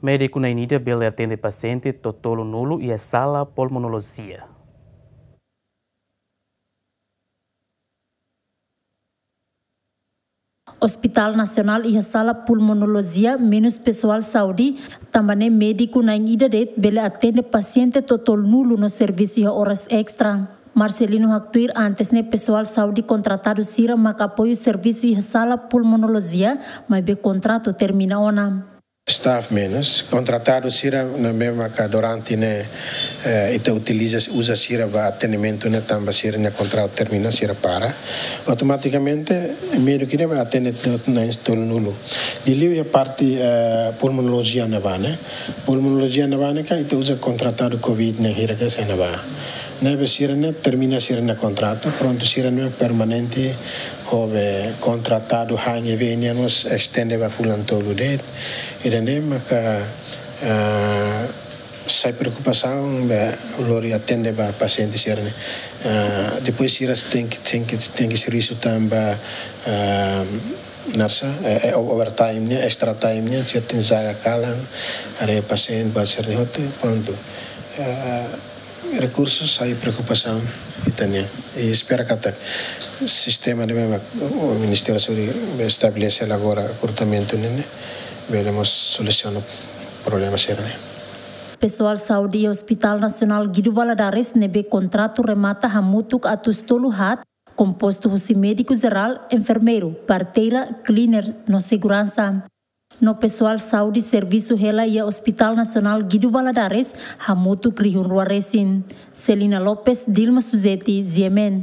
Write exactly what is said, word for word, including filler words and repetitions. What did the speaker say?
Médiku na'in ida bele atende pasiente totolu-nulu iha sala pulmonolojia. Hospital Nasionál iha sala pulmonolojia menus pesoál saúde, tanba ne'e médiku na'in ida de'it bele atende pasiente totolu-nulu no servisu iha oras estra. Marcelino haktuir antes ne'e pesoál saúde kontratadu sira maka apoiu servisu iha sala pulmonolojia, maibé kontratu termina ona. Staff menus, kontratadu sira ne'ebé maka durante ne'e, eh, ita utiliza, uza sira ba atendimentu ne'e tanba sira-nia kontratu termina, sira para. Automatikamente médiku ne'e bá atende to-, na'in tolu-nulu. Liuliu iha parte, eh, pulmonolojia ne'ebá ne'e. Pulmonolojia ne'ebá ne'e kan ita uza kontratadu covid ne'e hira ka sai ne'ebá. Ne'ebé sira-ne'e termina sira-nia kontratu, prontu sira-ne'e permanente, ho be kontratadu H N V nian mós estende ba fulan tolu de'it. Ida-ne'e maka, ah, sai preokupasaun ba lori atende ba pasiente sira-ne'e. Ah, depois sira tenke, tenke, tenke servisu tanba, ah, nasa, eh, eh, overtime nian, extra time nian, sira tenke zaga kalan, haree pasiente ba sira-ne'e hotu, prontu. Ah, rekursu sai preokupasaun ita-nian. I espera katak sistema ne'ebé mak Ministériu Saúde estabelese agora, rekrutamentu ne'e, ne'e bele mós solusiona problema sira-ne'e. Pesoál saúde iha Hospital Nasionál Guido Valadares ne'ebé kontratu remata hamutuk atus tolu haat, kompostu husi médiku jerál, enfermeiru, parteira, cleaner no seguransa. No pesoál saúde servisu hela iha Hospital Nasionál Guido Valadares hamutuk rihun rua resin. Celina Lopes, Dilma Suzeti, G M N.